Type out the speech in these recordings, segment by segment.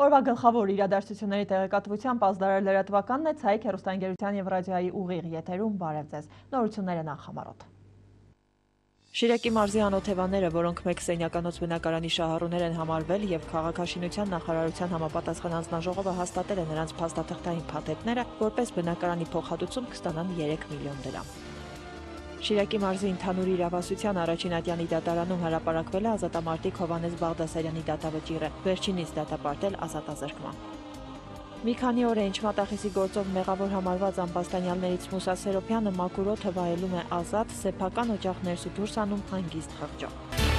Օրվա գլխավոր իրադարձությունների տեղեկատվությամբ ազդարար լրատվականն է, Ցայք հեռուստաընկերության և ռադիոյի ուղիղ եթերում բարև ձեզ։ Նորությունները նախամարոտ։ Շիրակի մարզի անօթևանները, որոնք մեկ սենյականոց բնակարանի շահառուներ են համարվել և քաղաքաշինության նախարարության համապատասխան հանձնաժողովը հաստատել է նրանց փաստաթղթային փաթեթները, որպես բնակարանի փոխհատուցում կստանան 3 միլիոն դրամ։ Շիրակի մարզի ընդհանուր իրավասության առաջին ատյանի դատարանում հրապարակվել է ազատամարտիկ Հովհաննես Բաղդասարյանի դատավճիռը, վերջինիս դատապարտել ազատազրկման։ Մի քանի օր է ինչ մատախիսի գործով մեղավոր համարված ամբաստանյալներից Մուսա Սերոփյանը մաքուր օդը վայելում է ազատ, սեփական օջախ ներս ու դուրս անում հանգիստ խղճով։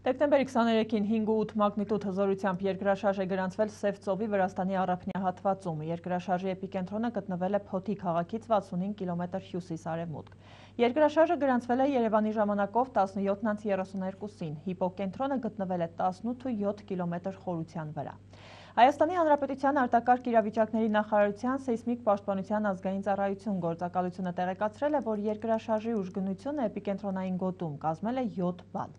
Դեկտեմբերի 23-ին 5.8 մագնիտուդ հզորությամբ երկրաշարժ է գրանցվել Սև ծովի Վրաստանի առափնյա հատվածում։ Երկրաշարժի էպիկենտրոնը գտնվել է Փոթի քաղաքից 65 կիլոմետր հյուսիս-արևմուտք։ Երկրաշարժը գրանցվել է Երևանի ժամանակով 17:32-ին։ Հիպոկենտրոնը գտնվել է 18.7 կիլոմետր խորության վրա։ Հայաստանի Հանրապետության արտակարգ իրավիճակների նախարարության սեյսմիկ պաշտպանության ազգային ծառայություն գործակալությունը տեղեկացրել է, որ երկրաշարժի ուժգնությունը էպիկենտրոնային գոտում կազմել է 7 բալ։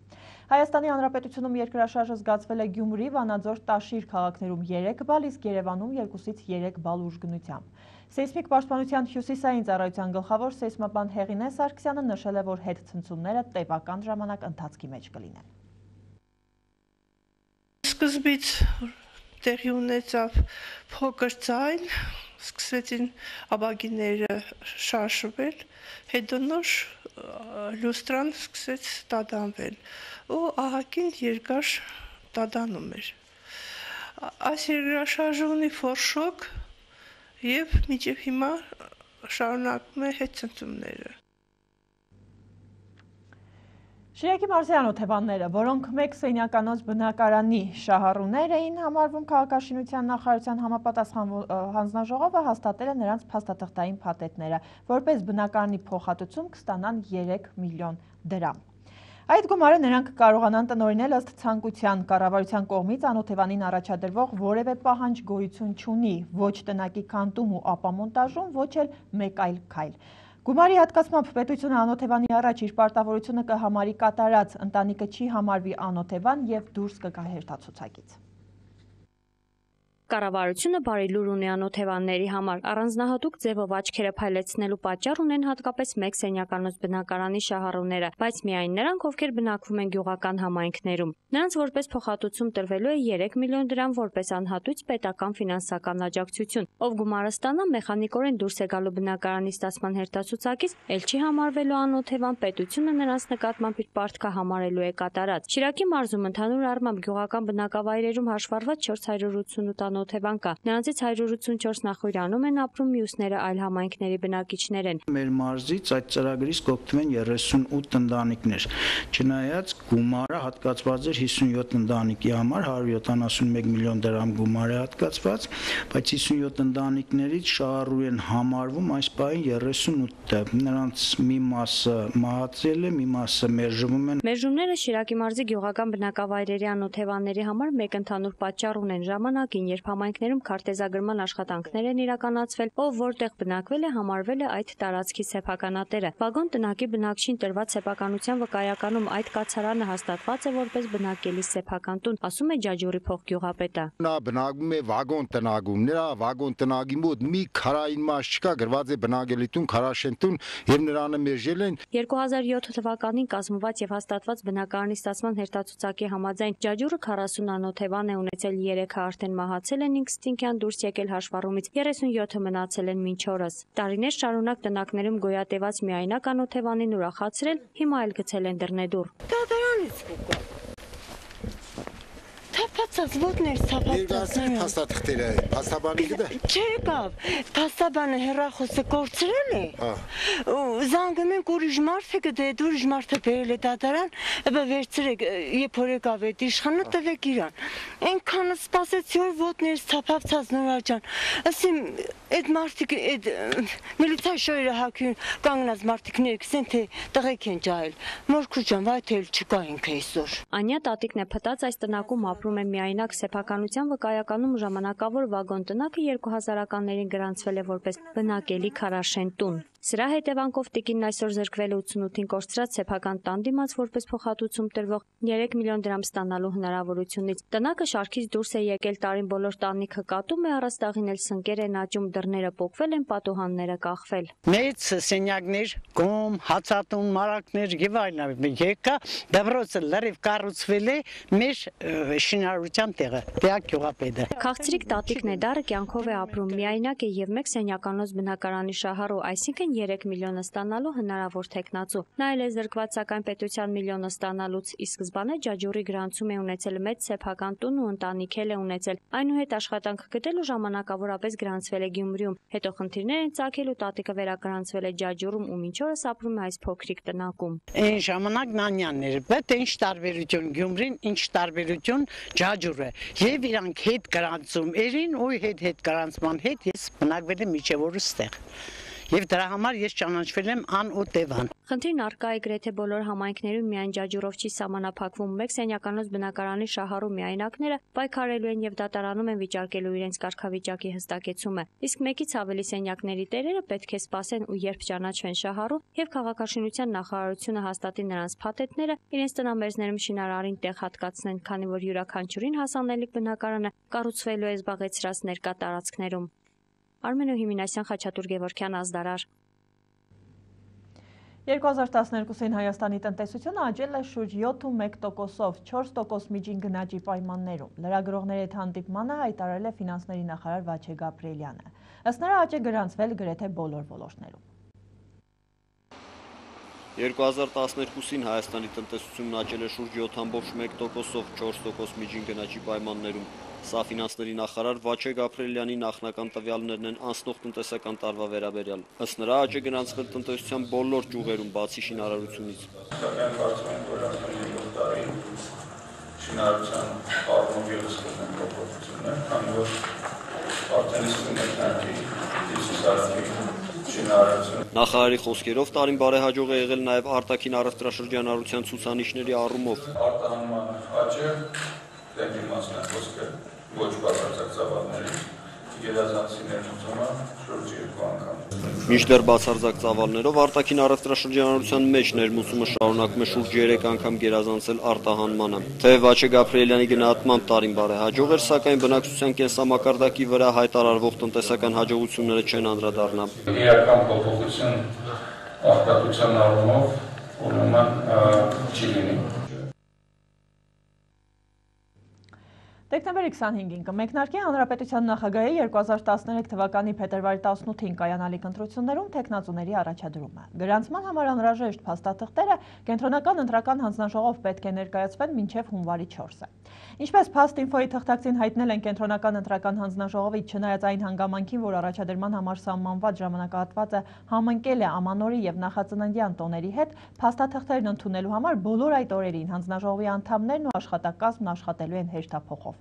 Հայաստանի Հանրապետությունում երկրաշարժը զգացվել է Գյումրի, Վանաձոր, Տաշիր քաղաքներում 3 բալ, իսկ Երևանում 2-ից 3 բալ ուժգնությամբ։ Սեյսմիկ պաշտպանության հյուսիսային ծառայության գլխավոր սեյսմաբան Հեղինե Սարգսյանը նշել է, որ հետցնցումները տևական ժամանակ ընթացքի մեջ կլինեն։ Սկզբից տեղի ունեցավ փոքր ձայն, սկսեցին աբագիները շարժվել, հետո նոր լյուստրան սկսեց տադանվել ու ահագին երկար տադանում էր։ Այս երկրաշարժը ունի ֆորշոկ և մինչև հիմա շարունակում է հետցնցումները։ Շիրակի մարզի անօթևանները, որոնք մեկ սենյականոց բնակարանի շահառուներ էին համարվում, քաղաքաշինության նախարարության համապատասխան հանձնաժողովը հաստատել է նրանց փաստաթղթային փաթեթները, որպես բնակարանի փոխհատուցում կստանան 3 միլիոն դրամ։ Այդ գումարը նրանք կարողանան տնօրինել ըստ ցանկության, կառավարության կողմից անօթևանին առաջադրվող որևէ պահանջ գոյություն չունի, ոչ տնակի քանդում ու ապամոնտաժում, ոչ էլ մեկ այլ քայլ։ Գումարի հատկացմամբ պետությունը անօթևանի առաջ իր պարտավորությունը կհամարի կատարած, ընտանիքը չի համարվի անօթևան և դուրս կգա հերթացուցակից։ Կառավարությունը բարի լուր ունի անօթևանների համար, առանձնահատուկ ձևով աչքերը փայլեցնելու պատճառ ունեն հատկապես մեկ սենյականոց բնակարանի շահառուները, բայց միայն նրանք, ովքեր բնակվում են գյուղական համայնքներում։ Նրանց որպես փոխհատուցում տրվելու է 3 միլիոն դրամ որպես անհատույց պետական ֆինանսական աջակցություն, ով գումարը ստանա մեխանիկորեն դուրս է գալու բնակարանի ստացման հերթացուցակից, ել չի համարվելու անօթևան, պետությունը նրանց նկատմամբ իր պարտքը համարելու է կատարած։ Շիրակի մարզում ընդհանուր առմամբ գյուղական բնակավայրերում հաշվառված 488 անօթևան կա։ Նրանցից 184 Նախոյրանում են ապրում, մյուսները այլ համայնքների բնակիչներ են։ Մեր մարզից այդ ծրագրից կօգտվեն 38 ընտանիքներ։ Չնայած գումարը հատկացված էր 57 ընտանիքի համար, 171 միլիոն դրամ գումար է հատկացված, բայց 57 ընտանիքներից շահառու են համարվում այս պահին 38-ը։ Նրանց մի մասը մահացել է, մի մասը մերժվում են։ Մերժումները Շիրակի մարզի գյուղական բնակավայրերի անօթևանների համար մեկ ընդհանուր պատճառ ունեն ժամանակին, երբ համայնքներում քարտեզագրման աշխատանքներ են իրականացվել, ով որտեղ բնակվել է, համարվել է այդ տարածքի սեփականատերը։ Վագոն տնակի բնակչին տրված սեփականության վկայականում այդ կացարանը հաստատված է որպես բնակելի սեփական տուն, ասում է Ջաջուրի փոխգյուղապետը։ Նա բնակվում է վագոն տնակում, նրա վագոն տնակի մոտ մի քարային մաս չկա, գրված է բնակելի տուն, քարաշեն տուն եւ նրանը մերժել են։ 2007 թվականին կազմված եւ հաստատված բնակարանի ստացման հերթացուցակի համաձայն Ջաջուրը 40 անօթևան է ունեցել, 3-ը արդեն մահացել են ինքնստինքյան դուրս եկել հաշվառումից, 37-ը մնացել են մինչ օրս։ Տարիներ շարունակ տնակներում գոյատևած միայնակ անօթևանին ուրախացրել, հիմա էլ գցել են դռնեդուռ։ Դատարանից Թափացած ոտներ, թափացած փաստաթղթերը, փաստաբանի գտա։ Չեկավ, փաստաբանը հեռախոսը կորցրել է։ Ու զանգում են ուրիշ մարդ է գտե, ուրիշ մարդը բերել է դատարան, ապա վերցրեք, երբ որ եկավ այդ իշխանը տվեք իրան։ Այնքան սպասեցի, որ ոտներս թափացած նորաճան։ Ասեմ, այդ մարդիկ, այդ միլիցիայի շոյերը հակյուն կանգնած մարդիկներ կսեն, թե տղեկ են ջահել։ Մորքուր ջան, վայ թե չկա ինքը այսօր։ Անյա տատիկն է փտած այս տնակում ապրում է մի միայնակ սեփականության վկայականում ժամանակավոր վագոն տնակը 2000-ականներին գրանցվել է որպես բնակելի քարաշեն տուն։ Սրա հետևանքով տիկինն այսօր զրկվել է 88-ին կորցրած սեփական տան դիմաց որպես փոխհատուցում տրվող 3 միլիոն դրամ ստանալու հնարավորությունից։ Տնակը շարքից դուրս է եկել տարին բոլոր տանիքը կատում է, առաստաղին էլ սնկեր են աճում, դռները պոկվել են, պատուհանները կախվել։ Մեծ սենյակներ, գոմ, հացատուն, մարակներ եւ այլն եկա, դպրոցը լրիվ կառուցվել է մեր շինարարության տեղը, Տեակ գյուղապետը։ Քաղցրիկ տատիկ Նեդարը կյանքով է ապրում, միայնակ է եւ մեկ սենյականոց բնակարանի շահառու, այսինքն 3 միլիոնը ստանալու հնարավոր թեկնածու։ Նա էլ է զրկված, սակայն պետության միլիոնը ստանալուց, ի սկզբանե Ջաջուրի գրանցում է ունեցել մեծ սեփական տուն ու ընտանիք էլ է ունեցել։ Այնուհետ աշխատանք գտելու ժամանակավորապես գրանցվել է Գյումրիում, հետո խնդիրներ են ծագել ու տատիկը վերագրանցվել է Ջաջուրում ու մինչ օրս ապրում է այս փոքրիկ տնակում։ Այն ժամանակ նանյաններ, բայց ինչ տարբերություն Գյումրին, ինչ տարբերություն Ջաջուրը։ Եվ իրանք հետ գրանցում երին ու հետ գրանցման հետ ես բնակվել եմ միջև օրս ստեղ։ Եվ դրա համար ես ճանաչվել եմ Ան ու Տևան։ Խնդիրն առկա է գրեթե բոլոր համայնքներում, միայն Ջաջուրով չի սահմանափակվում։ Մեկ սենյականոց բնակարանի շահառու միայնակները պայքարելու են եւ դատարանում են վիճարկելու իրենց կարգավիճակի հստակեցումը։ Իսկ մեկից ավելի սենյակների տերերը պետք է սպասեն ու երբ ճանաչվեն շահառու եւ քաղաքաշինության նախարարությունը հաստատի նրանց փաթեթները, իրենց տնամերձներում շինարարին տեղ հատկացնեն, քանի որ յուրաքանչյուրին հասանելիք բնակարանը կառուցվելու է զբաղեցրած ներկա տարածքներում։ Արմենո Հիմինասյան, Խաչատուր Գևորգյան, Ազդարար։ 2012-ին Հայաստանի տնտեսությունը աճել է շուրջ 7.1%-ով, 4% միջին գնաճի պայմաններում։ Լրագրողների հետ հանդիպմանը հայտարարել է ֆինանսների նախարար Վաչե Գաբրիելյանը։ Ըստ նրա աճ է գրանցվել գրեթե բոլոր ոլորտներում։ 2012-ին Հայաստանի տնտեսությունն աճել է շուրջ 7.1%-ով, 4% միջին գնաճի պայմաններում։ Սա ֆինանսների նախարար Վաչե Գաբրիելյանի նախնական տվյալներն են անցնող տնտեսական տարվա վերաբերյալ։ Ըստ նրա աճ է գրանցվել տնտեսության բոլոր ճյուղերում, բացի շինարարությունից։ Սակայն կարծում եմ, որ արդեն 7 տարի շինարարության առումով ևս կրնեն փոփոխություններ, քանի որ արդեն իսկ մեկնարկի շինարարություն։ Նախարարի խոսքերով տարին բարեհաջող է եղել նաև արտաքին առևտրաշրջանառության ցուցանիշների առումով։ Արտահանման աճը դեպի մասնակ խոսքը ոչ բացարձակ ծավալների գերազանցի ներմուծումը շուրջ 2 անգամ։ Մինչդեռ բացարձակ ծավալներով արտաքին առևտրաշրջանառության մեջ ներմուծումը շարունակում է շուրջ 3 անգամ գերազանցել արտահանմանը։ Թեև Վաչե Գաբրիելյանի գնահատմամբ տարին բարեհաջող էր, սակայն բնակչության կենսամակարդակի վրա հայտարարվող տնտեսական հաջողությունները չեն անդրադառնա։ Իրական փոփոխություն արտադրության առումով ուրեմն չի լինի։ Դեկտեմբերի 25-ին կմեկնարկի Հանրապետության նախագահի 2013 թվականի փետրվարի 18-ին կայանալիք ընտրություններում թեկնածուների առաջադրումը։ Գրանցման համար անհրաժեշտ փաստաթղթերը կենտրոնական ընտրական հանձնաժողով պետք է ներկայացվեն մինչև հունվարի 4-ը։ Ինչպես Փաստ-Ինֆոյի թղթակցին հայտնել են կենտրոնական ընտրական հանձնաժողովի, չնայած այն հանգամանքին, որ առաջադրման համար սահմանված ժամանակահատվածը համընկել է ամանորի եւ նախածննդյան տոների հետ, փաստաթղթերն ընդունելու համար բոլոր այդ օրերին հանձնաժողովի անդամներն ու աշխատակազմն աշխատելու են հեշտափոխով։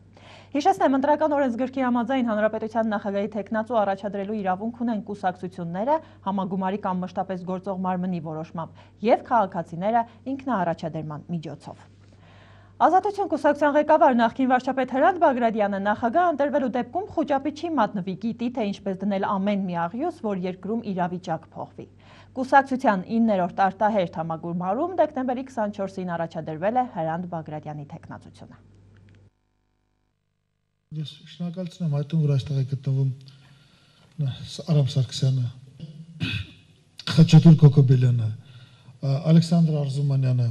Հիշեցնեմ, ընտրական օրենսգրքի համաձայն Հանրապետության նախագահի թեկնածու առաջադրելու իրավունք ունեն կուսակցությունները համագումարի կամ մշտապես գործող մարմնի որոշմամբ եւ քաղաքացիները ինքնաառաջադրման միջոցով։ Ազատություն կուսակցության ղեկավար նախկին վարչապետ Հրանտ Բագրատյանը նախագահ ընտրվելու դեպքում խոճապի չի մատնվի, գիտի, թե ինչպես դնել ամեն մի աղյուս, որ երկրում իրավիճակ փոխվի։ Կուսակցության 9-րդ արտահերթ համագումարում դեկտեմբերի 24-ին առաջադրվել է Հրանտ Բագրատյանի թեկնածությունը։ Ես շնորհակալություն եմ հայտնում, որ այստեղ է գտնվում Արամ Սարգսյանը, Խաչատուր Կոկոբելյանը, Ալեքսանդր Արզումանյանը,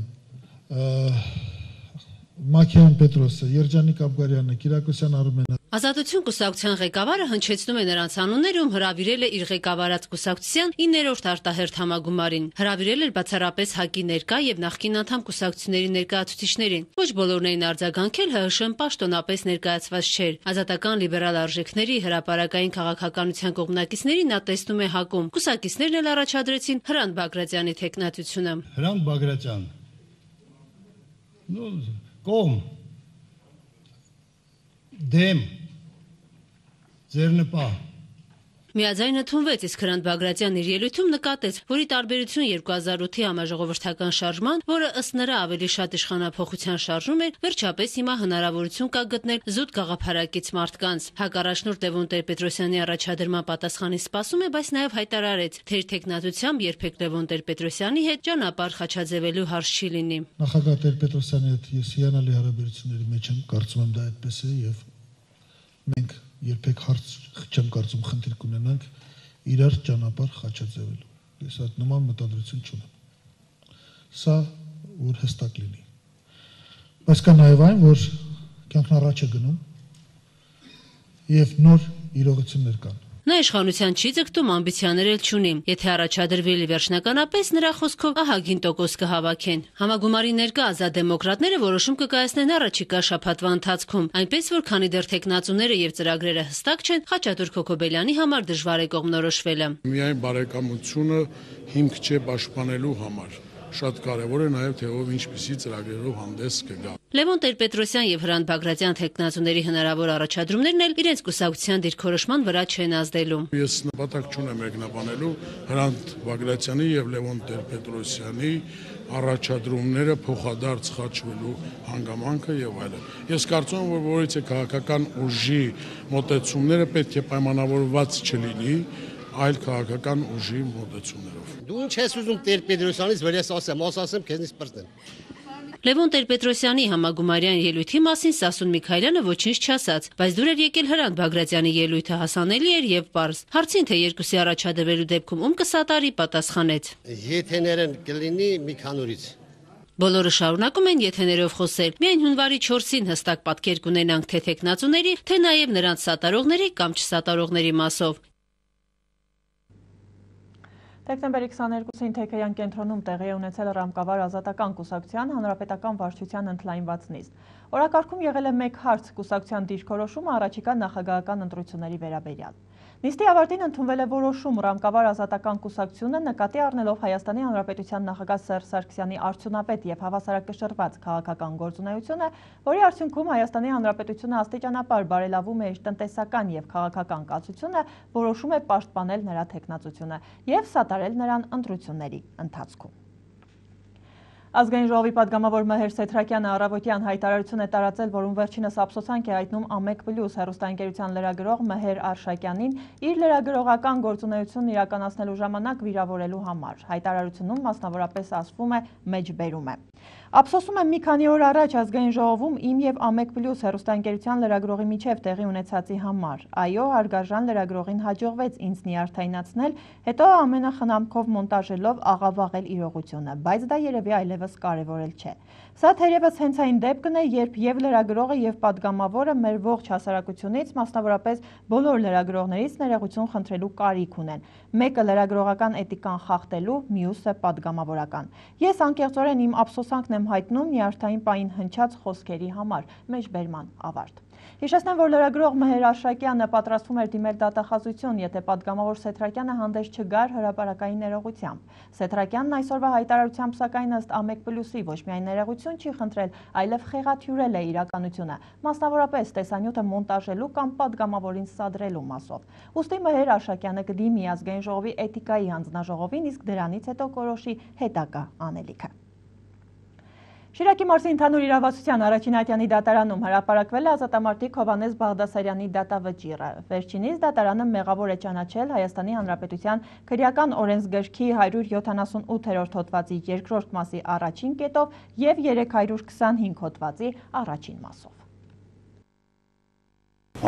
Մաքեյան Պետրոսը, Երջանիկ Աբգարյանը, Կիրակոսյան Արմենը։ Ազատություն կուսակցության ղեկավարը հնչեցնում է նրանց անունները, ում հրավիրել է իր ղեկավարած կուսակցության 9-րդ արտահերթ համագումարին։ Հրավիրել էր բացառապես ՀԱԿ-ի ներկա եւ նախկին անդամ կուսակցությունների ներկայացուցիչներին։ Ոչ բոլորն էին արձագանքել, ՀՀՇ-ն պաշտոնապես ներկայացված չէր։ Ազատական լիբերալ արժեքների հրապարակային քաղաքականության կողմնակիցներին նա տեսնում է ՀԱԿ-ում։ Կուսակիցներն էլ առաջադրեցին Հրանտ Բագրատյանի թեկնածությունը։ Հրանտ Բագրատյան։ Կողմ դեմ ձերնպահ Միաձայն ընդունվեց, իսկ Հրանտ Բագրատյանն իր ելույթում նկատեց, որ ի տարբերություն 2008-ի համաժողովրդական շարժման, որը ըստ նրա ավելի շատ իշխանափոխության շարժում էր, վերջապես հիմա հնարավորություն կա գտնել զուտ գաղափարակից մարդկանց։ Հակառաջնորդ Լևոն Տեր-Պետրոսյանի առաջադրման պատասխանին սպասում է, բայց նաև հայտարարեց, թե իր թեկնածությամբ երբեք Լևոն Տեր-Պետրոսյանի հետ ճանապարհ խաչաձևելու հարց չի լինի։ Նախագահ Տեր-Պետրոսյանի հետ ես հիանալի հարաբերությունների մեջ եմ, կարծում եմ դա այդպես է եւ մենք երբեք հարց չեմ կարծում խնդիր կունենանք իրար ճանապարհ խաչաձևելու։ Ես այդ նման մտադրություն չունեմ։ Սա որ հստակ լինի։ Բայց կա նաև այն, որ կյանքն առաջ է գնում եւ նոր իրողություններ կան։ Նա իշխանության չի ձգտում, ամբիցիաներ էլ չունի։ Եթե առաջադրվի վերջնականապես, նրա խոսքով ահագին տոկոս կհավաքեն։ Համագումարի ներկա ազատ դեմոկրատները որոշում կկայացնեն առաջիկա շաբաթվա ընթացքում, այնպես որ քանի դեռ թեկնածուները եւ ծրագրերը հստակ չեն, Խաչատուր Քոքոբելյանի համար դժվար է կողմնորոշվելը։ Միայն բարեկամությունը հիմք չէ պաշտպանելու համար։ Շատ կարևոր է նաև թե ով ինչպիսի ծրագրերով հանդես կգա։ Լևոն Տեր-Պետրոսյան եւ Հրանտ Բագրատյան թեկնածուների հնարավոր առաջադրումներն էլ իրենց կուսակցության դիրքորոշման վրա չեն ազդելու։ Ես նպատակ չունեմ մեկնաբանելու Հրանտ Բագրատյանի եւ Լևոն Տեր-Պետրոսյանի առաջադրումները փոխադարձ խաչվելու հանգամանքը եւ այլն։ Ես կարծում եմ, որ որից է քաղաքական ուժի մոտեցումները պետք է պայմանավորված չլինի այլ քաղաքական ուժի մոտեցումներով։ Դու ինչ ես ուզում Տեր-Պետրոսյանից վեր ես ասեմ քեզնից պրտեն։ Լևոն Տեր-Պետրոսյանի համագումարյան ելույթի մասին Սասուն Միքայելյանը ոչինչ չասաց, բայց դուր էր եկել Հրանտ Բագրատյանի ելույթը հասանելի էր եւ պարզ։ Հարցին թե երկուսի առաջադրվելու դեպքում ում կսատարի, պատասխանեց. Եթեներն կլինի մի քանորից։ Բոլորը շարունակում են եթեներով խոսել։ Միայն հունվարի 4-ին հստակ պատկեր կունենանք թե թեկնածուների, թե նաեւ նրանց սատարողների կամ չսատարողների մասով։ Դեկտեմբերի 22-ին Թեքեյան կենտրոնում տեղի է ունեցել Ռամկավար ազատական կուսակցության հանրապետական վարչության ընդլայնված նիստ։ Օրակարգում եղել է մեկ հարց՝ կուսակցության դիրքորոշումը առաջիկա նախագահական ընտրությունների վերաբերյալ։ Նիստի ավարտին ընդունվել է որոշում Ռամկավար ազատական կուսակցությունը նկատի առնելով Հայաստանի Հանրապետության նախագահ Սերժ Սարգսյանի արդյունավետ եւ հավասարակշռված քաղաքական գործունեությունը, որի արդյունքում Հայաստանի Հանրապետությունը աստիճանաբար բարելավում է իր տնտեսական եւ քաղաքական կացությունը, որոշում է պաշտպանել նրա թեկնածությունը եւ սատարել նրան ընտրությունների ընթացքում։ Ազգային ժողովի պատգամավոր Մհեր Սեթրակյանը առավոտյան հայտարարություն է տարածել, որում վերջինս ափսոսանք է հայտնում AMEC+ հեռուստաընկերության լրագրող Մհեր Արշակյանին իր լրագրողական գործունեությունն իրականացնելու ժամանակ վիրավորելու համար։ Հայտարարությունում մասնավորապես ասվում է մեջբերում է։ Ափսոսում եմ մի քանի օր առաջ ազգային ժողովում իմ եւ AMEC+ հեռուստաընկերության լրագրողի միջև տեղի ունեցածի համար։ Այո, հարգարժան լրագրողին հաջողվեց ինձ նյարդայնացնել, հետո ամենախնամքով մոնտաժելով աղավաղել իրողությունը, բայց դա երևի այլևս կարևորել չէ։ Սա թերևս հենց այն դեպքն է, երբ եւ լրագրողը եւ պատգամավորը մեր ողջ հասարակությունից, մասնավորապես բոլոր լրագրողներից ներողություն խնդրելու կարիք ունեն։ Մեկը լրագրողական էթիկան խախտելու, մյուսը պատգամավորական։ Ես անկեղծորեն իմ ափսոսանքն եմ հայտնում նյարդային պահին հնչած խոսքերի համար։ Մեջբերման ավարտ։ Հիշեցնեմ, որ լրագրող Մհեր Արշակյանը պատրաստվում էր դիմել դատախազություն, եթե պատգամավոր Սեթրակյանը հանդես չգար հրապարակային ներողությամբ։ Սեթրակյանն այսօրվա հայտարարությամբ սակայն ըստ AMEC+-ի ոչ միայն ներողություն չի խնդրել, այլև խեղաթյուրել է իրականությունը, մասնավորապես տեսանյութը մոնտաժելու կամ պատգամավորին սադրելու մասով։ Ուստի Մհեր Արշակյանը կդիմի ազգային ժողովի էթիկայի հանձնաժողովին, իսկ դրանից հետո կորոշի հետագա անելիքը։ Շիրակի մարզի ընդհանուր իրավասության առաջին ատյանի դատարանում հրապարակվել է ազատամարտիկ Հովհաննես Բաղդասարյանի դատավճիռը։ Վերջինիս դատարանը մեղավոր է ճանաչել Հայաստանի Հանրապետության քրեական օրենսգրքի 178-րդ հոդվածի 2-րդ մասի առաջին կետով եւ 325 հոդվածի առաջին մասով։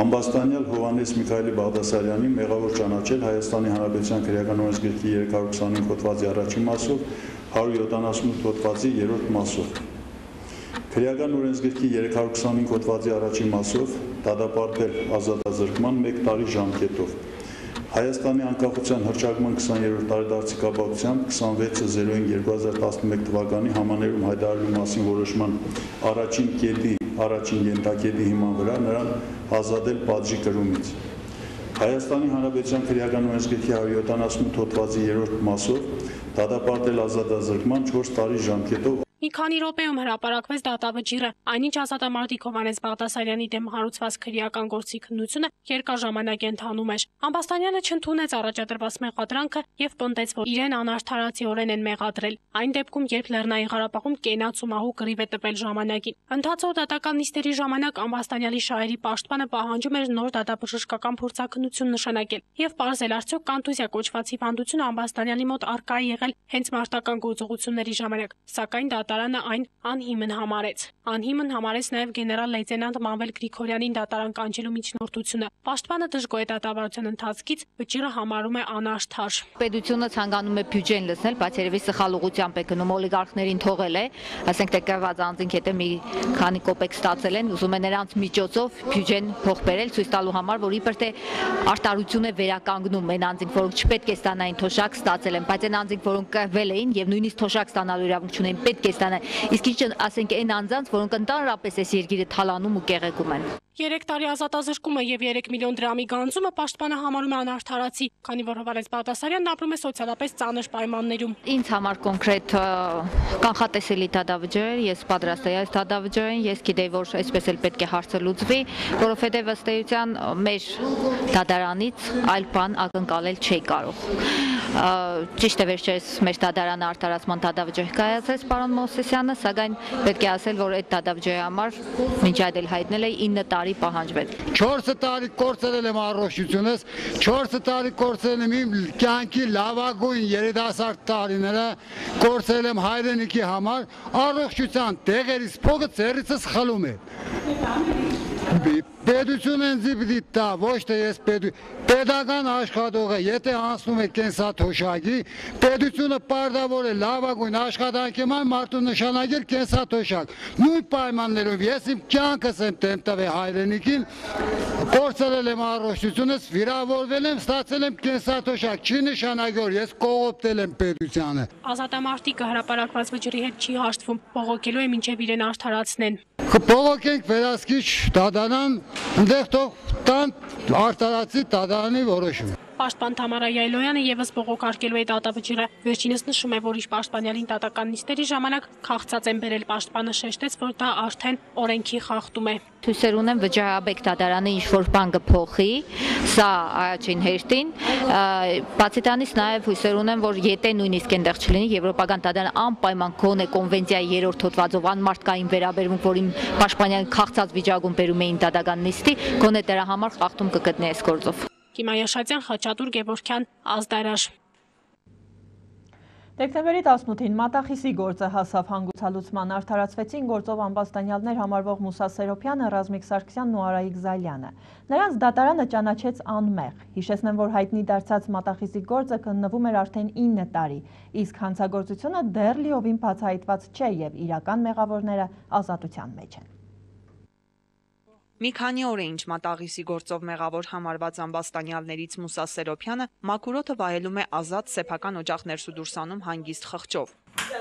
Ամբաստանյալ Հովհաննես Միքայելի Բաղդասարյանի մեղավոր ճանաչել Հայաստանի Հանրապետության քրեական օրենսգրքի 325 հոդվածի առաջին մասով 178 հոդվածի 3-րդ մասով։ Քրեական օրենսգրքի 325 հոդվածի առաջին մասով դատապարտել ազատազրկման 1 տարի ժամկետով։ Հայաստանի անկախության հռչակման 20-րդ տարեդարձի կապակցությամբ 26.05.2011 թվականի համաներում հայտարարելու մասին որոշման առաջին կետի առաջին ենթակետի հիման վրա նրան ազատել պատժի կրումից։ Հայաստանի Հանրապետության քրեական օրենսգրքի 178 հոդվածի 3-րդ մասով դատապարտել ազատազրկման 4 տարի ժամկետով Մի քանի րոպեում հրապարակվեց դատավճիռը, այնինչ ազատամարտիկ Հովհաննես Բաղդասարյանի դեմ հարուցված քրեական գործի քննությունը երկար ժամանակ ընթանում էր։ Ամբաստանյանը չընդունեց առաջադրված մեղադրանքը եւ պնդեց, որ իրեն անարդարացիորեն են մեղադրել։ Այն դեպքում, երբ Լեռնային Ղարաբաղում կենաց ու մահու կռիվ է տվել ժամանակին։ Ընթացող դատական նիստերի ժամանակ Ամբաստանյանի շահերի պաշտպանը պահանջում էր նոր դատաբժշկական փորձաքննություն նշանակել եւ պարզել արդյոք կոնտուզիա կոչված հիվանդությունը Ամբաստանյանի մոտ առկա է եղել հենց մարտական գործողությունների ժամանակ, սակայն դատարանը այն անհիմն համարեց։ Անհիմն համարեց նաև գեներալ լեյտենանտ Մանվել Գրիգորյանին դատարան կանչելու միջնորդությունը։ Պաշտպանը դժգոհ է դատավարության ընթացքից, վճիռը համարում է անարդար։ Պետությունը ցանկանում է բյուջեն լցնել, բայց երևի սխալ ուղղությամբ է գնում, օլիգարխներին թողել է, ասենք տեկաված անձինք հետո մի քանի կոպեկ ստացել են, ուզում է նրանց միջոցով բյուջեն փող բերել, ցույց տալու համար, որ իբր թե արտարություն է վերականգնում այն անձինք, որոնք չպետք է ստանային թոշակ ստացել են, բայց այն անձինք, որոնք կռվել էին եւ նույնիսկ թոշակ ստանալու իրավունք չունեն, պետք է ստանան։ Իսկ ինչ ասենք այն անձանց, որոնք ընդհանրապես այս երկիրը թալանում ու կեղեքում են։ 3 տարի ազատազրկումը եւ 3 միլիոն դրամի գանձումը պաշտպանը համարում է անարդարացի, քանի որ Հովհաննես Բաղդասարյանն ապրում է սոցիալապես ծանր պայմաններում։ Ինձ համար կոնկրետ կանխատեսելի դատավճիռ, ես պատրաստ եմ այս դատավճիռին, ես գիտեի, որ այսպես էլ պետք է հարցը լուծվի, որովհետեւ ըստ էության մեր դատարանից այլ բան ակնկալել չի կարող։ Ճիշտ է վերջերս մեր դատարանը արդարացման դատավճիռ կայացրեց պարոն Մովսեսյանը, սակայն պետք է ասել, որ այդ դատավճիռի համար մինչ այդ էլ հայտնել է 9 տարի պահանջվել։ 4 տարի կորցրել եմ առողջությունս, 4 տարի կորցրել եմ իմ կյանքի լավագույն երիտասարդ տարիները, կորցրել եմ հայրենիքի համար, առողջության տեղերից փողը ծերիցս խլում է։ Պետությունը ինձ պիտի տա, ոչ թե ես պետական աշխատողը, եթե անցնում է կենսաթոշակի, պետությունը պարտավոր է լավագույն աշխատանքի մարդու նշանակել կենսաթոշակ։ Նույն պայմաններով ես իմ կյանքս եմ դեմ տվել հայրենիքին, կորցրել եմ առողջությունս, վիրավորվել եմ, ստացել եմ կենսաթոշակ, չի նշանակել, որ ես կողոպտել եմ պետությանը։ Ազատամարտիկը հրապարակված վճռի հետ չի հաշտվում, բողոքելու է մինչև իրեն արդարացնեն։ Բողոքենք վերահսկիչ դատարան, ընդեղ թող տան արտարացի դատարանի որոշումը։ Պաշտպան Թամարա Յայլոյանը եւս բողոքարկելու է դատավճիռը։ Վերջինս նշում է, որ իր պաշտպանյալին դատական նիստերի ժամանակ քաղցած են բերել, պաշտպանը շեշտեց, որ դա արդեն օրենքի խախտում է։ Հույսեր ունեմ վճարաբեկ դատարանը ինչ-որ բան կփոխի, սա առաջին հերթին, բացի դրանից նաև հույսեր ունեմ, որ եթե նույնիսկ այնտեղ չլինի, Եվրոպական դատարանը անպայման գոնե կոնվենցիայի 3-րդ հոդվածով անմարդկային վերաբերմունք, որ իմ պաշտպանյալին քաղցած վիճակում բերում էին դատական նիստի, գոնե դրա համար խախտում կգտնի այս գործով։ Կիմա Յաշատյան, Խաչատուր Գևորգյան, Ազդարար։ Դեկտեմբերի 18-ին Մատախիսի գործը հասավ հանգուցալուծման, արդարացվեցին գործով ամբաստանյալներ համարվող Մուսա Սերոփյանը, Ռազմիկ Սարգսյանն ու Արայիկ Զալյանը։ Նրանց դատարանը ճանաչեց անմեղ։ Հիշեցնեմ, որ հայտնի դարձած Մատախիսի գործը քննվում էր արդեն 9 տարի, իսկ հանցագործությունը դեռ լիովին բացահայտված չէ եւ իրական մեղավորները ազատության մեջ են։ Մի քանի օր է ինչ Մատաղիսի գործով մեղավոր համարված ամբաստանյալներից Մուսա Սերոփյանը մաքուրոթը վայելում է ազատ սեփական օջախ ներսուդուրսանում հանգիստ խղճով։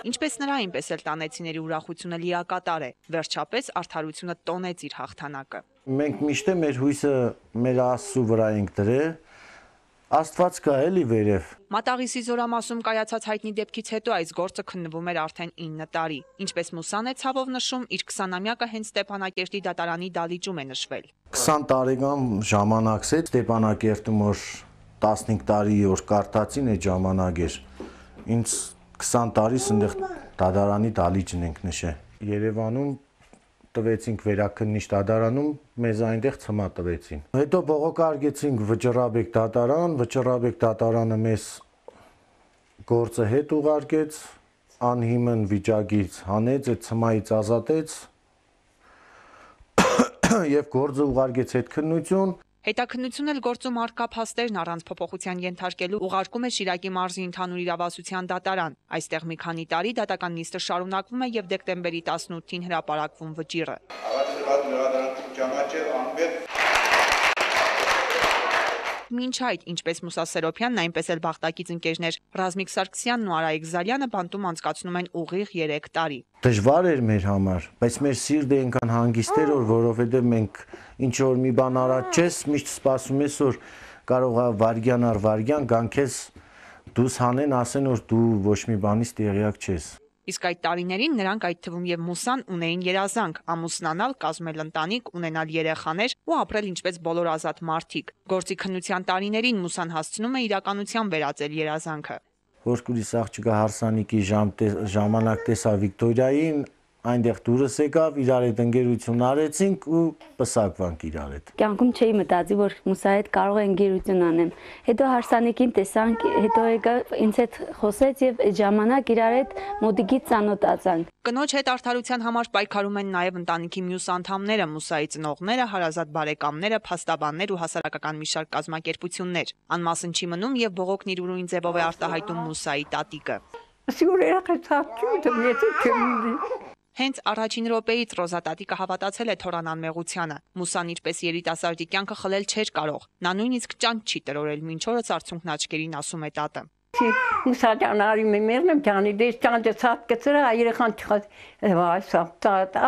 Ինչպես նրա, այնպես էլ տանեցիների ուրախությունը լիակատար է։ Վերջապես արդարությունը տոնեց իր հաղթանակը։ Մենք միշտ մեր հույսը մեր Աստծու վրա ենք դրել։ Աստված կա էլի վերև։ Մատաղիսի զորամասում կայացած հայտնի դեպքից հետո այս գործը քննվում էր արդեն 9 տարի։ Ինչպես Մուսան է ցավով նշում, իր 20-ամյակը հենց Ստեփանակերտի դատարանի դալիճում է նշվել։ 20 տարեկան ժամանակս է Ստեփանակերտում, որ 15 տարի որ կարտացին այդ ժամանակ էր։ Ինձ 20 տարիս այնտեղ դատարանի դալիճն ենք նշել։ Երևանում տվեցինք վերաքննիչ դատարանում, մեզ այնտեղ ցմա տվեցին։ Հետո բողոքարկեցինք Վճռաբեկ դատարան, Վճռաբեկ դատարանը մեզ գործը հետ ուղարկեց, անհիմն վիճակից հանեց, այդ ցմայից ազատեց եւ գործը ուղարկեց հետքննություն։ Հետաքննություն էլ գործում առկա փաստերն առանց փոփոխության ենթարկելու ուղարկում է Շիրակի մարզի ընդհանուր իրավասության դատարան։ Այստեղ մի քանի տարի դատական նիստը շարունակվում է եւ դեկտեմբերի 18-ին հրապարակվում վճիռը։ Մինչ այդ, ինչպես Մուսա Սերոփյանն, այնպես էլ Բաղդակից ընկերներ Ռազմիկ Սարգսյանն ու Արայիկ Զալյանը բանտում անցկացնում են ուղիղ 3 տարի։ Դժվար էր մեր համար, բայց մեր սիրտը այնքան հանգիստ էր, որովհետև մենք ինչ որ մի բան արած չես, միշտ սպասում ես, որ կարող է վարյան առ վարյան գան քեզ դուս հանեն, ասեն, որ դու ոչ մի բանից տեղյակ չես։ Իսկ այդ տարիներին նրանք, այդ թվում եւ Մուսան, ունեին երազանք՝ ամուսնանալ, կազմել ընտանիք, ունենալ երեխաներ ու ապրել ինչպես բոլոր ազատ մարդիկ։ Գործի քննության տարիներին Մուսան հասցնում է իրականության վերածել երազանքը։ Որ կուրիս աղջիկը հարսանիքի ժամանակ տեսա Վիկտորիային, այնտեղ դուրս եկավ, իրար հետ ընկերություն արեցինք ու պսակվանք իրար հետ։ Կյանքում չէի մտածի, որ Մուսայի հետ կարող է ընկերություն անեմ։ Հետո հարսանիքին տեսանք, հետո եկա ինձ հետ խոսեց եւ այդ ժամանակ իրար հետ մոտիկից ծանոթացանք։ Կնոջ հետ արդարության համար պայքարում են նաև ընտանիքի մյուս անդամները, Մուսայի ծնողները, հարազատ բարեկամները, փաստաբաններ ու հասարակական մի շարք կազմակերպություններ։ Անմասն չի մնում եւ բողոքն իր ուրույն ձևով է արտահայտում Մուսայի տատիկը։ Հենց առաջին րոպեից Ռոզա տատիկը հավատացել է Թորան անմեղությանը։ Մուսան իրպես երիտասարդի կյանքը խլել չէր կարող։ Նա նույնիսկ ճանճ չի տրորել, մինչ օրս արցունքն աչքերին ասում է տատը։ Մուսաջան արի մերնեմ ջանի դες ճանճը ցած կծրա երեխան չխած վայսա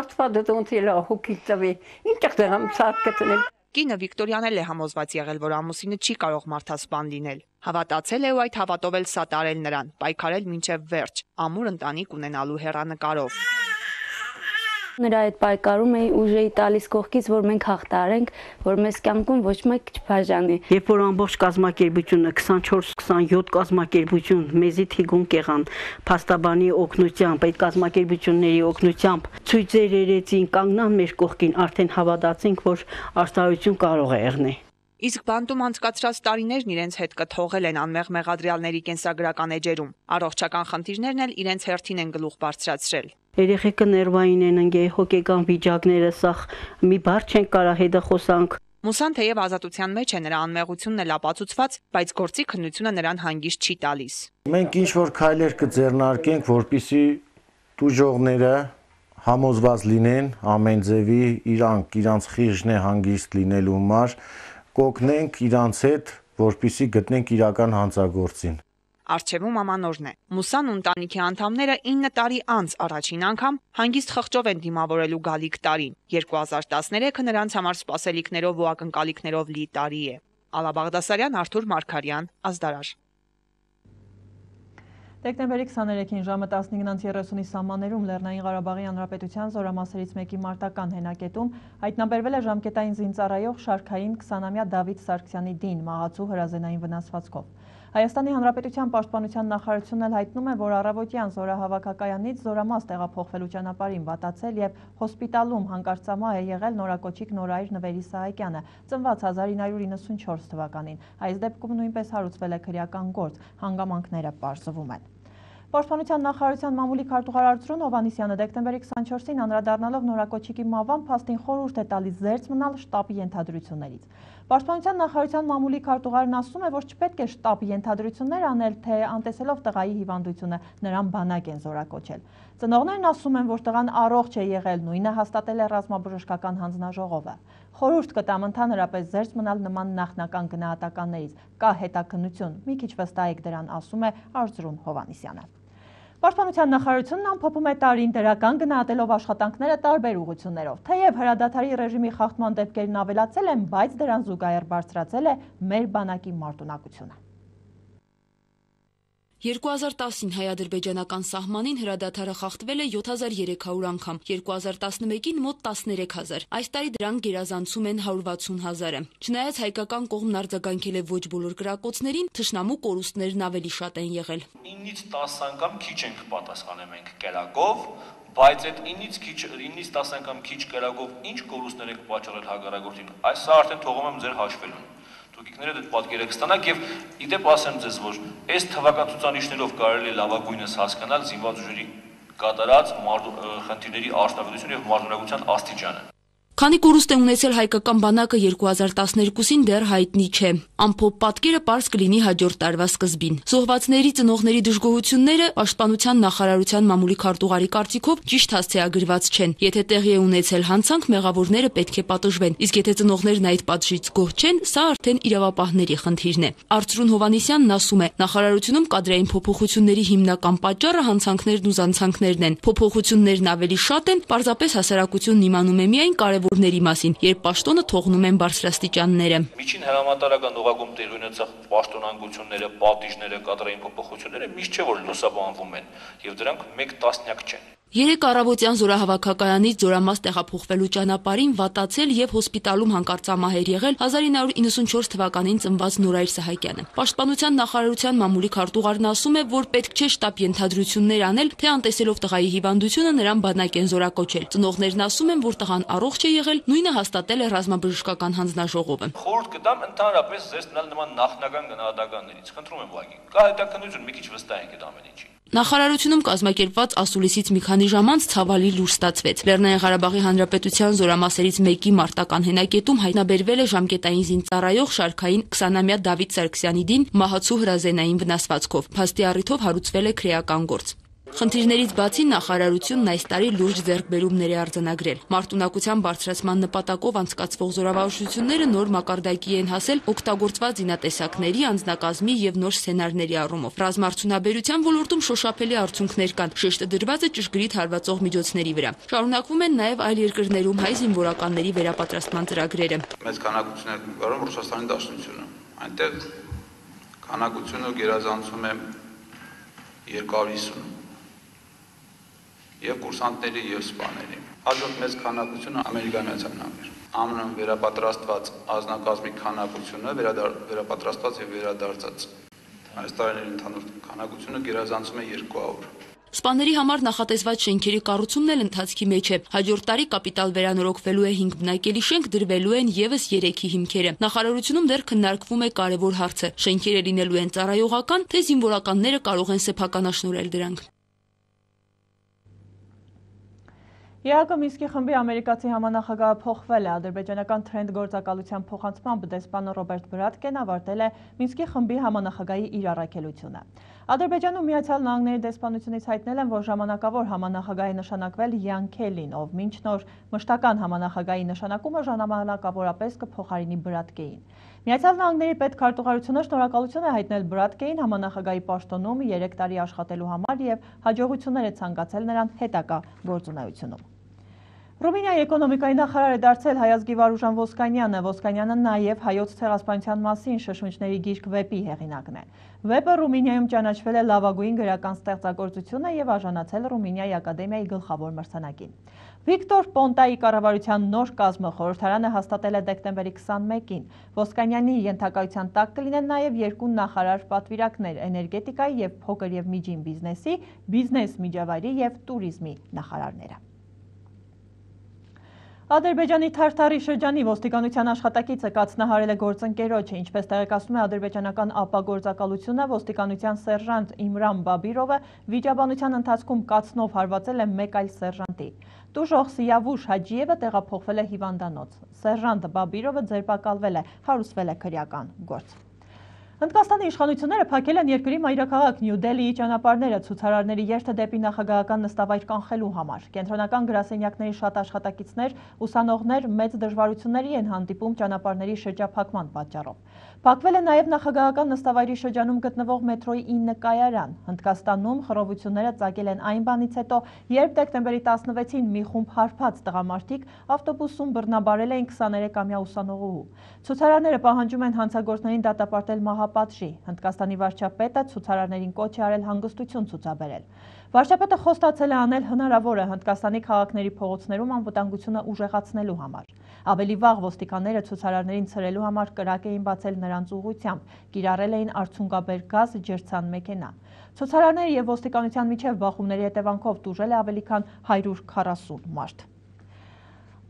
աստված դոնց էլա հոգի ծավի ինչեղ դեմ ցած կծնել։ Կինը Վիկտորիան էլ է համոզված եղել, որ ամուսինը չի կարող մարդասպան լինել։ Հավատացել է ու այդ հավատով էլ սատարել նրան, պայքարել մինչև վերջ, ամուր ընտանիք ունենալու հեռանկարով։ Նրա այդ պայքարում էի ուժ էի տալիս կողքից, որ մենք հաղթարենք, որ մեզ կյանքում ոչ մեկ չբաժանի։ Երբ որ ամբողջ կազմակերպությունը 24-27 կազմակերպություն մեզի թիգուն եղան փաստաբանի օգնությամբ, այդ կազմակերպությունների օգնությամբ ցույցեր երեցին, կանգնան մեր կողքին, արդեն հավատացինք, որ արդարություն կարող է եղնել։ Իսկ բանտում անցկացրած տարիներն իրենց հետ կթողել են անմեղ մեղադրյալների կենսագրական էջերում։ Առողջական խնդիրներն էլ իրենց հերթին են գլուխ բարձրացրել։ Երեխեքը ներվային են ընկել, հոգեկան վիճակները, սա մի բառ չեն կարող հետը խոսանք։ Մուսան թեև ազատության մեջ է, նրա անմեղությունն էլ ապացուցված, բայց գործի քննությունը նրան հանգիստ չի տալիս։ Մենք ինչ որ քայլեր կձեռնարկենք, որպեսզի տուժողները համոզված լինեն ամեն ձևի իրանց խիղճն է հանգիստ լինելու համար, կօգնենք իրանց հետ, որպեսզի գտնենք իրական հանցագործին։ Առջևում ամանորն է։ Մուսան ու ընտանիքի անդամները 9 տարի անց առաջին անգամ հանգիստ խղճով են դիմավորելու գալիք տարին։ 2013-ը նրանց համար սպասելիքներով ու ակնկալիքներով լի տարի է։ Ալա Բաղդասարյան, Արթուր Մարգարյան, Ազդարար։ Դեկտեմբերի 23-ին ժամը 15:30-ի սահմաններում Լեռնային Ղարաբաղի Հանրապետության զորամասերից մեկի մարտական հենակետում հայտնաբերվել է ժամկետային զինծառայող շարքային 20-ամյա Դավիթ Սարգսյանի դին մահացու հրազենային վնասվածքով։ Հայաստանի Հանրապետության Պաշտպանության նախարարությունն էլ հայտնում է, որ առավոտյան զորահավաքակայանից զորամաս տեղափոխվելու ճանապարհին վատացել եւ հոսպիտալում հանկարծամահ է եղել նորակոչիկ Նորայր Նվերի Սահակյանը, ծնված 1994 թվականին։ Այս դեպքում նույնպես հարուցվել է քրեական գործ, հանգամանքները պարզվում են։ Պաշտպանության նախարարության մամուլի քարտուղար Արծրուն Հովհաննիսյանը դեկտեմբերի 24-ին անդրադառնալով նորակոչիկի մահվան փաստին խորհուրդ է տալիս զերծ մնալ շտաբի ենթադրություններից։ Պաշտպանության նախարարության մամուլի քարտուղարն ասում է, որ չպետք է շտաբի ենթադրություններ անել, թե անտեսելով տղայի հիվանդությունը նրան բանակ են զորակոչել։ Ծնողներն ասում են, որ տղան առողջ է եղել, նույնը հաստատել է ռազմաբժշկական հանձնաժողովը։ Խորհուրդ կտամ ընդհանրապես զերծ մնալ նման նախնական գնահատականներից։ Կա հետաքննություն, մի քիչ վստահեք դրան, ասում է Արծրուն Հովհաննիսյանը։ Պաշտպանության նախարարությունն ամփոփում է տարին դրական գնահատելով աշխատանքները տարբեր ուղղություններով։ Թեև հրադադարի ռեժիմի խախտման դեպքերն ավելացել են, բայց դրան զուգահեռ բարձրացել է մեր բանակի մարտունակությունը։ 2010-ին հայ-ադրբեջանական սահմանին հրադադարը խախտվել է 7300 անգամ, 2011-ին մոտ 13000, այս տարի դրանք գերազանցում են 160,000-ը։ Չնայած հայկական կողմն արձագանքել է ոչ բոլոր կրակոցներին, թշնամու կորուստներն ավելի շատ են եղել։ 9-ից 10 անգամ քիչ ենք պատասխանել մենք կերակով, բայց այդ 9-ից 10 անգամ քիչ կերակով ինչ կորուստներ եք պատճառել հակառակորդին, այս սա արդեն թողում եմ ձեր հաշվելուն։ Տուկիկները դեպ պատկերը կստանաք եւ իդեպ ասեմ ձեզ, որ այս թվական ցուցանիշներով կարելի է լավագույնս հասկանալ զինված ուժերի կատարած խնդիրների արդյունավետություն եւ մարտունակության աստիճանը։ Քանի կորուստ է ունեցել հայկական բանակը 2012-ին դեռ հայտնի չէ։ Ամփոփ պատկերը պարզ կլինի հաջորդ տարվա սկզբին։ Զոհվածների ծնողների դժգոհությունները պաշտպանության նախարարության մամուլի քարտուղարի կարծիքով ճիշտ հասցեագրված չեն։ Եթե տեղի է ունեցել հանցանք, մեղավորները պետք է պատժվեն, իսկ եթե ծնողներն այդ պատժից գոհ չեն, սա արդեն իրավապահների խնդիրն է։ Արծրուն Հովհաննիսյանն ասում է, նախարարությունում կադրային փոփոխությունների հիմնական պատճառը հանցանքներն ու զանցանքներն են։ Փոփոխություններն ավելի շատ են, պարզապես հասարակությունն իմանում է միայն կարևոր կարևորների մասին, երբ պաշտոնը թողնում են բարձրաստիճանները։ Միջին հրամանատարական օղակում տեղի ունեցող պաշտոնանկությունները, պատիժները, կադրային փոփոխությունները միշտ չէ որ լուսաբանվում են, եւ դրանք 1 տասնյակ չեն։ 3 առավոտյան զորահավաքականից զորամաս տեղափոխվելու ճանապարհին վատացել եւ հոսպիտալում հանկարծամահեր եղել 1994 թվականին ծնված Նորայր Սահակյանը։ Պաշտպանության նախարարության մամուլի քարտուղարն ասում է, որ պետք չէ շտապ ենթադրություններ անել, թե անտեսելով տղայի հիվանդությունը նրան բանակ են զորակոչել։ Ծնողներն ասում են, որ տղան առողջ է եղել, նույնը հաստատել է ռազմաբժշկական հանձնաժողովը։ Խորհուրդ կտամ ընդհանրապես զերծ մնալ նման նախնական գնահատականներից։ Խնդրում եմ ուղղակի։ Կա հետաքննություն, մի քիչ վստահ ենք այդ ամեն ինչի։ Նախարարությունում կազմակերպված ասուլիսից մի քանի ժամ անց ցավալի լուր ստացվեց։ Լեռնային Ղարաբաղի Հանրապետության զորամասերից մեկի մարտական հենակետում հայտնաբերվել է ժամկետային զինծառայող շարքային 20-ամյա Դավիթ Սարգսյանի դին մահացու հրազենային վնասվածքով։ Փաստի առիթով հարուցվել է քրեական գործ։ Խնդիրներից բացի նախարարությունն այս տարի լուրջ ձեռքբերումներ է արձանագրել։ Մարտունակության բարձրացման նպատակով անցկացվող զորավարժությունները նոր մակարդակի են հասել օգտագործված զինատեսակների, անձնակազմի եւ նոր սցենարների առումով։ Ռազմարդյունաբերության ոլորտում շոշափելի արդյունքներ կան, շեշտը դրված է ճշգրիտ հարվածող միջոցների վրա։ Շարունակվում են նաեւ այլ երկրներում հայ զինվորականների վերապատրաստման ծրագրերը։ Մեծ քանակություններ կառում Ռուսաստանի Դաշնությունը։ Այնտեղ քանակությունը գերազանցում է 250 եւ կուրսանտների եւ սպաների։ Հաջորդ մեծ քանակությունը Ամերիկայի Միացյալ Նահանգներ։ ԱՄՆ-ում վերապատրաստված ազնագազմի քանակությունը վերապատրաստված եւ վերադարձած այս տարիների ընդհանուր քանակությունը գերազանցում է 200։ Սպաների համար նախատեսված շենքերի կառուցումն էլ ընթացքի մեջ է։ Հաջորդ տարի կապիտալ վերանորոգվելու է 5 բնակելի շենք, դրվելու են եւս 3-ի հիմքերը։ Նախարարությունում դեռ քննարկվում է կարևոր հարցը՝ շենքերը լինելու են ծառայողական, թե զինվորականները կարող են սեփականաշնորհել դրանք։ ԵԱԿ Մինսկի խմբի ամերիկացի համանախագահը փոխվել է։ Ադրբեջանական Թրենդ գործակալության փոխանցմամբ դեսպան Ռոբերտ Բրատկեն ավարտել է Մինսկի խմբի համանախագահի իր առաքելությունը։ Ադրբեջանում Միացյալ Նահանգների դեսպանությունից հայտնել են, որ ժամանակավոր համանախագահի նշանակվել Յան Քելին, ով մինչ նոր մշտական համանախագահի նշանակումը ժամանակավորապես կփոխարինի Բրատկեին։ Միացյալ Նահանգների պետքարտուղարությունը շնորհակալություն է հայտնել Բրատկեին համանախագահի պաշտոնում 3 տարի աշխատելու համար եւ հաջողություններ է ցանկացել նրան հետագա գործունեությունում։ Ռումինիայի էկոնոմիկայի նախարար է դարձել Հայազգի Վարուժան Ոսկանյանը։ Ոսկանյանը նաև հայոց ցեղասպանության մասին շշմիչների գիրք վեպի հեղինակն է։ Վեպը Ռումինիայում ճանաչվել է լավագույն գրական ստեղծագործությունը եւ արժանացել Ռումինիայի ակադեմիայի գլխավոր մրցանակին։ Վիկտոր Պոնտայի կառավարության նոր կազմը խորհրդարանը հաստատել է դեկտեմբերի 21-ին։ Ոսկանյանի ենթակայության տակ կլինեն նաև 2 նախարար պատվիրակներ՝ էներգետիկայի եւ փոքր եւ միջին բիզնեսի, բիզնես միջավայրի եւ տուրիզմի նախարարները։ Ադրբեջանի Թարթարի շրջանի ոստիկանության աշխատակիցը կացնահարել է գործընկերոջը, ինչպես տեղեկացնում է ադրբեջանական ապագործակալությունը, ոստիկանության սերժանտ Իմրան Բաբիրովը վիճաբանության ընթացքում կացնով հարվածել է մեկ այլ սերժանտի։ Տուժող Սիավուշ Հաջիևը տեղափոխվել է հիվանդանոց։ Սերժանտ Բաբիրովը ձերբակալվել է, հարուցվել է քրեական գործ։ Հնդկաստանի իշխանությունները փակել են երկրի մայրաքաղաք Նյու Դելիի ճանապարհները ցուցարարների երթը դեպի նախագահական նստավայր կանխելու համար։ Կենտրոնական գրասենյակների շատ աշխատակիցներ, ուսանողներ մեծ դժվարությունների են հանդիպում ճանապարհների շրջափակման պատճառով։ Փակվել է նաև նախագահական նստավայրի շրջանում գտնվող մետրոյի 9 կայարան։ Հնդկաստանում խռովությունները ծագել են այն բանից հետո, երբ դեկտեմբերի 16-ին մի խումբ հարբած տղամարդիկ ավտոբուսում բռնաբարել էին 23-ամյա ուսանողուհու։ Ցուցարարները պահանջում են հանցագործներին դատապարտել մահապատժի։ Հնդկաստանի վարչապետը ցուցարարներին կոչ է արել հանգստություն ցուցաբերել։ Վարչապետը խոստացել է անել հնարավորը Հնդկաստանի քաղաքների փողոցներում անվտանգությունը ուժեղացնելու համար։ Ավելի վաղ ոստիկանները ցուցարարներին ցրելու համար կրակ էին բացել նրանց ուղղությամբ, կիրառել էին արցունկաբեր գազ, ջրցան մեքենա։ Ցուցարարների եւ ոստիկանության միջև բախումների հետևանքով տուժել է ավելի քան 140 մարդ։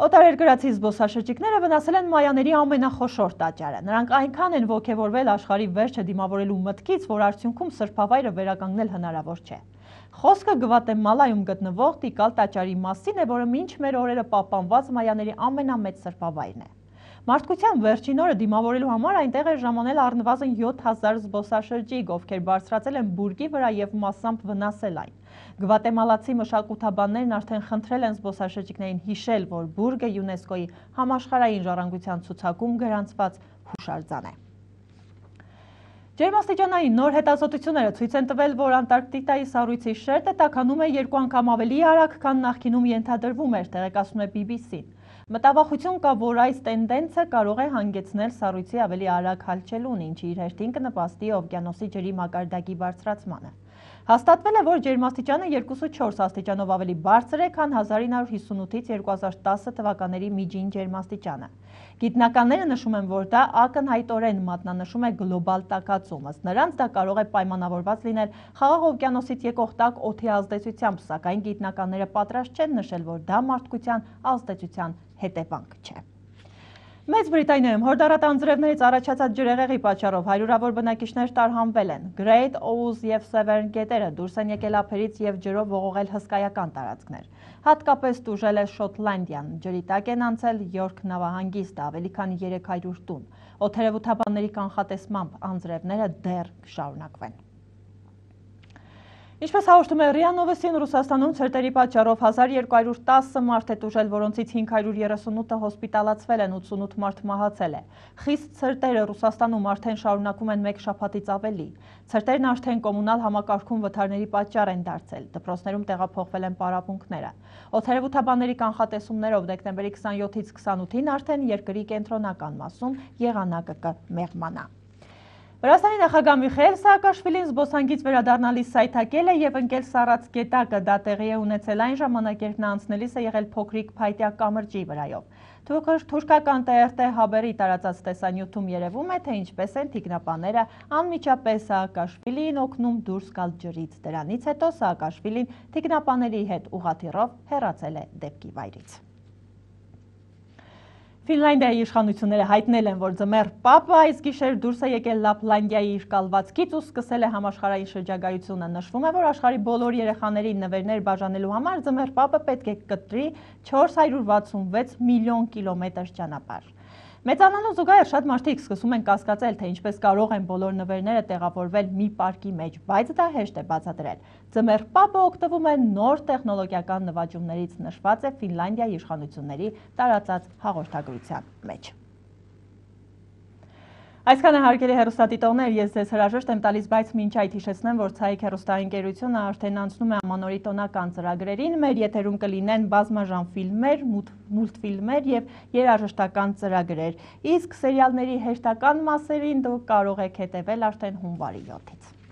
Օտարերկրացի զբոսաշրջիկները վնասել են մայաների ամենախոշոր տաճարը։ Նրանք այնքան են ոգևորվել աշխարհի վերջը դիմավորելու մտքից, որ արդյունքում սրբավայրը վերականգնել հնարավոր չէ։ Խոսքը Գվատեմալայում գտնվող Տիկալ տաճարի մասին է, որը մինչ մեր օրերը պահպանված մայաների ամենամեծ սրբավայրն է։ Մարդկության վերջին օրը դիմավորելու համար այնտեղ է ժամանել առնվազն 7000 զբոսաշրջիկ, ովքեր բարձրացել են բուրգի վրա եւ մասամբ վնասել այն։ Գվատեմալացի մշակութաբաններն արդեն խնդրել են զբոսաշրջիկներին հիշել, որ բուրգը ՅՈՒՆԵՍԿՕ-ի համաշխարհային ժառանգության ցուցակում գրանցված հուշարձան է։ Ջերմաստիճանային նոր հետազոտությունները ցույց են տվել, որ Անտարկտիկայի սառույցի շերտը տաքանում է 2 անգամ ավելի արագ, քան նախկինում ենթադրվում էր, տեղեկացնում է BBC-ն։ Մտավախություն կա, որ այս տենդենսը կարող է հանգեցնել սառույցի ավելի արագ հալչելուն, ինչը իր հերթին կնպաստի օվկիանոսի ջրի մակարդակի բարձրացմանը։ Հաստատվել է, որ ջերմաստիճանը 2,4 աստիճանով ավելի բարձր է, քան 1958-ից 2010 թվականների միջին ջերմաստիճանը։ Գիտնականները նշում են, որ դա ակնհայտորեն մատնանշում է գլոբալ տաքացում, ըստ նրանց դա կարող է պայմանավորված լինել Խաղաղ օվկիանոսից եկող տաք օդի ազդեցությամբ, սակայն գիտնականները պատրաստ չեն նշել, որ դա մարդկության ազդեցության հետևանք չէ։ Մեծ Բրիտանիայում հորդառատ անձրևներից առաջացած ջրհեղեղի պատճառով հարյուրավոր բնակիչներ տարհանվել են։ Great Ouse եւ Severn գետերը դուրս են եկել ափերից եւ ջրով ողողել հսկայական տարածքներ։ Հատկապես տուժել է Շոտլանդիան, ջրի տակ են անցել Յորք նավահանգիստը, ավելի քան 300 տուն։ Օդերևութաբանների կանխատեսմամբ անձրևները դեռ կշարունակվեն։ Ինչպես հաղորդում է ՌԻԱ Նովոստին, Ռուսաստանում ցրտերի պատճառով 1210 մարդ է տուժել, որոնցից 538-ը հոսպիտալացվել են, 88 մարդ մահացել է։ Խիստ ցրտերը Ռուսաստանում արդեն շարունակում են 1 շաբաթից ավելի։ Ցրտերն արդեն կոմունալ համակարգում վթարների պատճառ են դարձել։ Դպրոցներում տեղափոխվել են պարապմունքները։ Օդերևութաբանների կանխատեսումներով դեկտեմբերի 27-ից 28-ին արդեն երկրի կենտրոնական մասում եղանակը կմեղմանա։ Վրաստանի նախագահ Միխայել Սաակաշվիլին զբոսանքից վերադառնալիս սայթաքել է եւ ընկել Սառած գետակը, դա տեղի է ունեցել այն ժամանակ, երբ նա անցնելիս է եղել փոքրիկ փայտյա կամրջի վրայով։ Թուրքական TRT հաբերի տարածած տեսանյութում երևում է, թե ինչպես են թիկնապաները անմիջապես Սաակաշվիլիին օգնում դուրս գալ ջրից։ Դրանից հետո Սաակաշվիլին թիկնապաների հետ ուղղաթիռով հեռացել է դեպքի վայրից։ Ֆինլանդիայի իշխանությունները հայտնել են, որ ձմեռ պապը այս գիշեր դուրս է եկել Լապլանդիայի իր կալվածքից ու սկսել է համաշխարհային շրջագայությունը։ Նշվում է, որ աշխարհի բոլոր երեխաներին նվերներ բաժանելու համար ձմեռ պապը պետք է կտրի 466 միլիոն կիլոմետր ճանապարհ։ Մեծանալուն զուգահեռ շատ մարդիկ սկսում են կասկածել, թե ինչպես կարող են բոլոր նվերները տեղավորվել մի պարկի մեջ, բայց դա հեշտ է բացատրել։ Ձմեռ պապը օգտվում է նոր տեխնոլոգիական նվաճումներից, նշված է Ֆինլանդիայի իշխանությունների տարածած հաղորդագրության մեջ։ Այսքանը հարգելի հեռուստադիտողներ, ես ձեզ հրաժեշտ եմ տալիս, բայց մինչ այդ հիշեցնեմ, որ Ցայք հեռուստաընկերությունը արդեն անցնում է ամանորի տոնական ծրագրերին, մեր եթերում կլինեն բազմաժան ֆիլմեր, մուլտֆիլմեր եւ երաժշտական ծրագրեր, իսկ սերիալների հերթական մասերին դուք կարող եք հետևել արդեն հունվարի 7-ից։